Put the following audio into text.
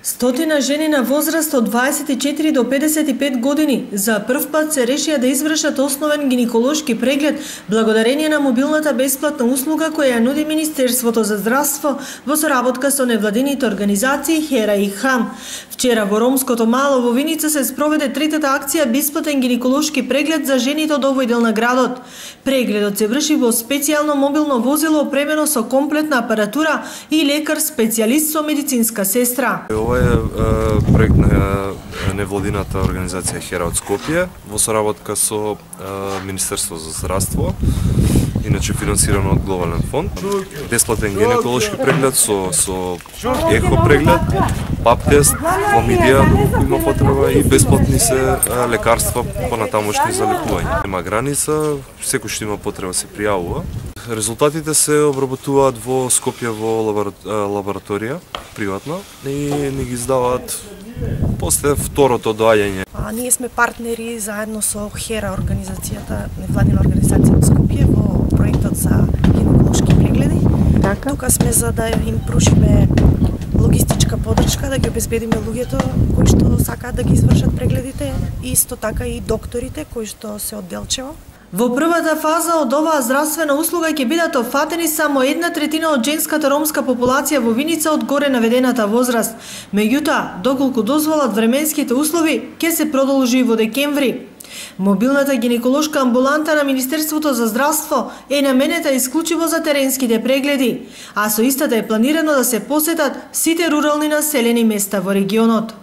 Стотина жени на возраст од 24 до 55 години за прв пат се решија да извршат основен гинеколошки преглед благодарение на мобилната бесплатна услуга која ја нуди Министерството за здравство во соработка со невладините организации Хера и Хам. Вчера во ромското мало во Виница се спроведе третата акција бесплатен гинеколошки преглед за жените од овој дел на градот. Прегледот се врши во специјално мобилно возило опремено со комплетна апаратура и лекар специјалист со медицинска сестра. Ова е проект на невладината организација Хера од Скопје во соработка со Министерство за здравство, иначе финансирано од Глобален фонд. Бесплатен гинеколошки преглед со ехо преглед, пап тест, хламидија доколку има потреба и бесплатни се лекарства понатамошни за лекување. Нема граница, секој што има потреба се пријавува. Резултатите се обработуваат во Скопје во лабораторија, приватно, и ни ги издаваат после второто доаѓање. Ние сме партнери заедно со Хера, организацијата, невладина организација од Скопје, во проектот за гинеколошки прегледи. Тука сме за да им прушиме логистичка подршка, да ги обезбедиме луѓето кои што сакаат да ги извршат прегледите, и исто така и докторите кои што се од Делчево. Во првата фаза од оваа здравствена услуга ќе бидат опфатени само 1/3 од женската ромска популација во Виница од горе наведената возраст. Меѓутоа, доколку дозволат временските услови, ќе се продолжи во декември. Мобилната гинеколошка амбуланта на Министерството за здравство е наменета исклучиво за теренските прегледи, а со истата е планирано да се посетат сите рурални населени места во регионот.